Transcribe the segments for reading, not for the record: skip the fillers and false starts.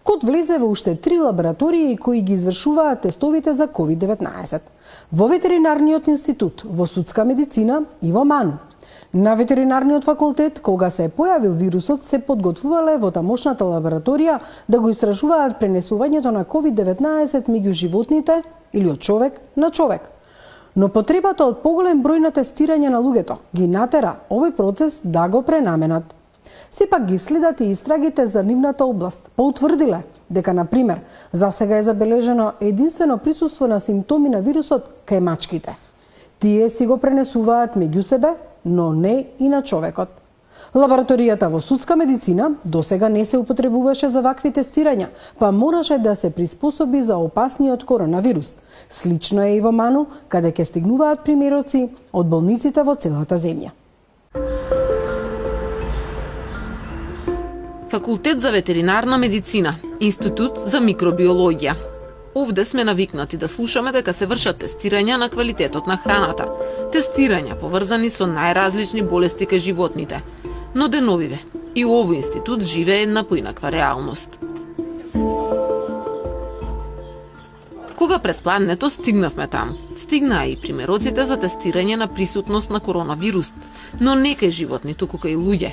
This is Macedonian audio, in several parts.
Код влезе во уште 3 лаборатории кои ги извршуваат тестовите за COVID-19. Во Ветеринарниот институт, во Судска медицина и во МАНУ. На Ветеринарниот факултет, кога се појавил вирусот, се подготвувале во тамошната лабораторија да го истражуваат пренесувањето на COVID-19 меѓу животните или од човек на човек. Но потребата од поголем број на тестирање на луѓето ги натера овој процес да го пренаменат. Сепак ги следат и истрагите за нивната област, поутврдиле дека, например, засега е забележено единствено присуство на симптоми на вирусот кај мачките. Тие си го пренесуваат меѓу себе, но не и на човекот. Лабораторијата во Судска медицина досега не се употребуваше за вакви тестирања, па мораше да се приспособи за опасниот коронавирус. Слично е и во МАНУ, каде ќе стигнуваат примероци од болниците во целата земја. Факултет за ветеринарна медицина, Институт за микробиологија. Овде сме навикнати да слушаме дека се вршат тестирања на квалитетот на храната. Тестирања поврзани со најразлични болести кај животните. Но деновиве, и овој институт живее една поинаква реалност. Кога пред пладнето стигнавме таму, стигнаа и примероците за тестирање на присутност на коронавирус, но не кај животни, туку кај луѓе.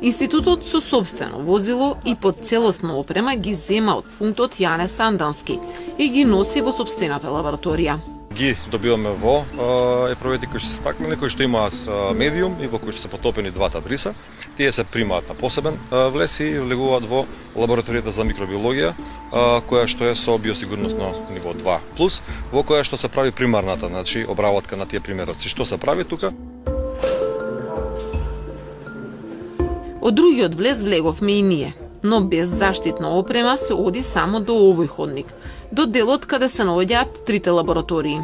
Институтот со собствено возило и под целосна опрема ги зема од пунктот Јане Сандански и ги носи во собствената лабораторија. Ги добиваме во епрувети кои се стакнени, кои што имаат медиум и во кои што се потопени двата бриса. Тие се примаат на посебен влез и влегуваат во лабораторијата за микробиологија, која што е со биосигурносно ниво 2+, во која што се прави примарната, значи обработка на тие примероци. Што се прави тука? Од другиот влез влеговме и ние, но без заштитна опрема се оди само до овој ходник, до делот каде се наоѓаат трите лаборатории.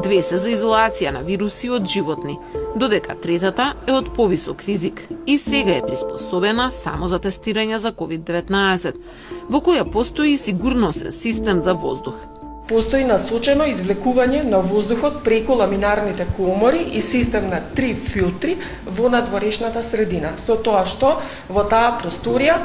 2 се за изолација на вируси од животни, додека третата е од повисок ризик и сега е приспособена само за тестирање за COVID-19, во која постои сигурносен систем за воздух. Постои насочено извлекување на воздухот преку ламинарните комори и систем на 3 филтри во надворешната средина. Со тоа што во таа просторија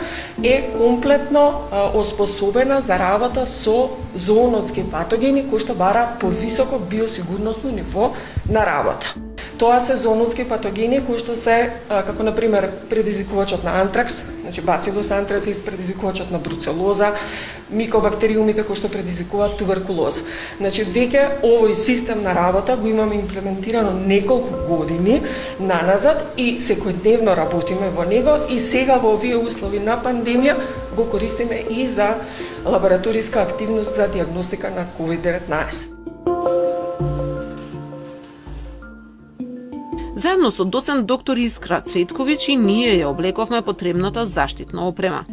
е комплетно оспособена за работа со зоонотски патогени кои што бараат повисоко биосигурносно ниво на работа. Тоа се зоонотски патогени кои што се, како на пример, предизвикувачот на антракс, значи бацилус антрацис, предизвикувачот на бруцелоза, микобактериумите кои што предизвикуваат туберкулоза. Значи веќе овој систем на работа го имаме имплементирано неколку години наназад и секојдневно работиме во него и сега во овие услови на пандемија го користиме и за лабораториска активност за диагностика на COVID-19. Заедно со доцент доктор Искра Цветковиќ и ние ја облековме потребната заштитна опрема.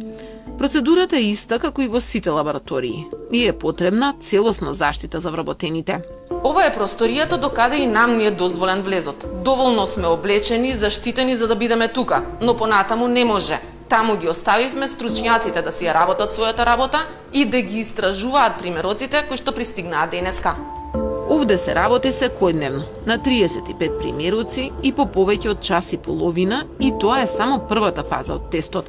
Процедурата е иста како и во сите лаборатории и е потребна целосна заштита за вработените. Ова е просторијата до каде и нам ни е дозволен влезот. Доволно сме облечени и заштитени за да бидеме тука, но понатаму не може. Таму ги оставивме стручњаците да си ја работат својата работа и да ги истражуваат примероците кои што пристигнаат денеска. Овде се работи секојдневно, на 35 примероци и по повеќе од час и половина, и тоа е само првата фаза од тестот.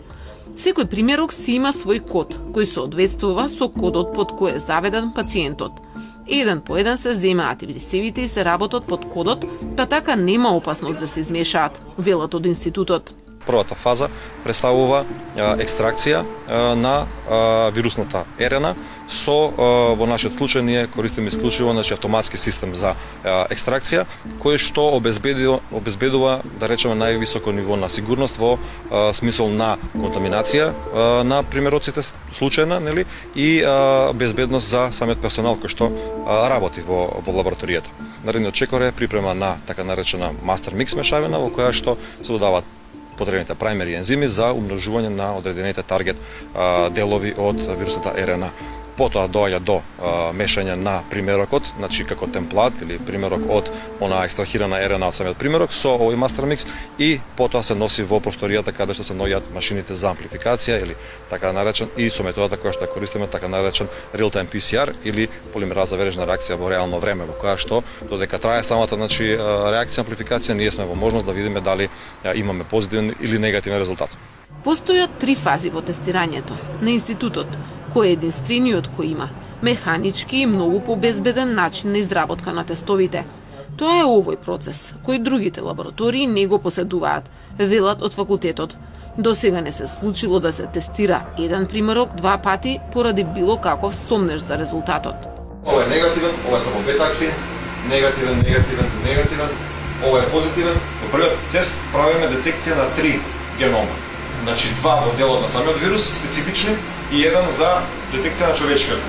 Секој примерок си има свој код, кој соодветствува со кодот под кој е заведен пациентот. Еден по еден се земаат и брисевите и се работат под кодот, па така нема опасност да се измешаат, велат од институтот. Првата фаза представува екстракција на вирусната РНА со, во нашиот случај, ние користиме исклучиво автоматски систем за екстракција, кој што обезбедува, да речеме, највисоко ниво на сигурност во смисол на контаминација на примероците случајна, нели, и безбедност за самиот персонал кој што работи во лабораторијата. Наредниот чекор е припрема на така наречена мастер микс мешавина, во која што се додаваат потребните праймери ензими за умножување на одредените таргет делови од вирусната РНА. Потоа доаѓа до мешање на примерокот, значи како темплат или примерок од она екстрахирана РНА од самиот примерок со овој мастер микс и потоа се носи во просторијата каде што се наоѓаат машините за амплификација или така наречен и со методата која што ја користиме така наречен real time PCR или полимераза вережна реакција во реално време, во која што додека трае самата реакција амплификација ние сме во можност да видиме дали имаме позитивен или негативен резултат. Постојат 3 фази во тестирањето. На институтот кој е единствениот кој има механички и многу побезбеден начин на изработка на тестовите. Тоа е овој процес, кој другите лаборатории не го поседуваат, велат од факултетот. До сега не се случило да се тестира еден примерок 2 пати поради било каков сомнеж за резултатот. Ова е негативен, ова е само бета-аксин, негативен, ова е позитивен. Во првиот тест правиме детекција на 3 генома. Значи 2 во делот на самиот вирус специфични и еден за детекција на човечкиот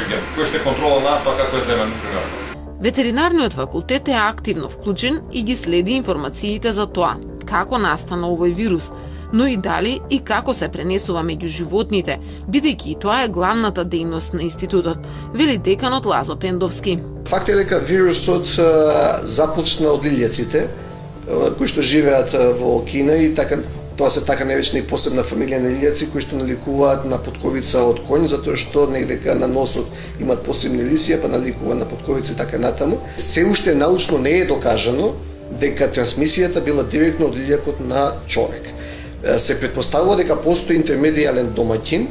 ген, кој што е контрола на тоа како е земен примерно. Ветеринарниот факултет е активно вклучен и ги следи информациите за тоа како настана овој вирус, но и дали и како се пренесува меѓу животните, бидејќи тоа е главната дејност на институтот, вели деканот Лазо Пендовски. Факт е дека вирусот започна од лилјаците, кои што живеат во Кина и тоа се така наречена и посебна фамилија на лилјаци кои што наликуваат на потковица од коњ, затоа што дека на носот имаат посебни лисија, па наликува на потковица и така натаму. Се уште научно не е докажано дека трансмисијата била директно од лилјакот на човек. Се претпоставува дека постои интермедијален домаќин,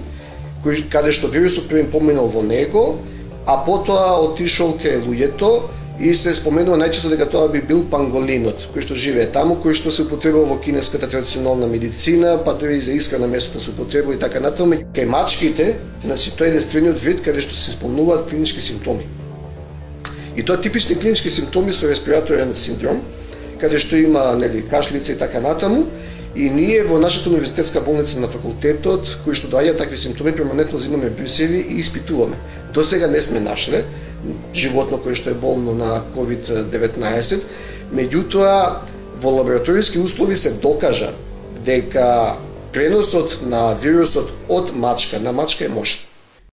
каде што вирусот првен поминал во него, а потоа отишол кај луѓето и се споменува најчесто дека тоа би бил панголинот, кој што живее таму, кој што се употребува во кинеската традиционална медицина, па дури и за исхрана месото се употребува и така натаму. Кај мачките, значи тоа е единствениот вид каде што се спомнуваат клинички симптоми. И тоа типични клинички симптоми со респираторен синдром, каде што има кашлица и така натаму. И ние во нашата универзитетска болница на факултетот, кои што доаѓаат такви симптоми, перманентно земаме брисеви и испитуваме. До сега не сме нашле животно кое што е болно на COVID-19, меѓутоа во лабораториски услови се докажа дека преносот на вирусот од мачка на мачка е можен.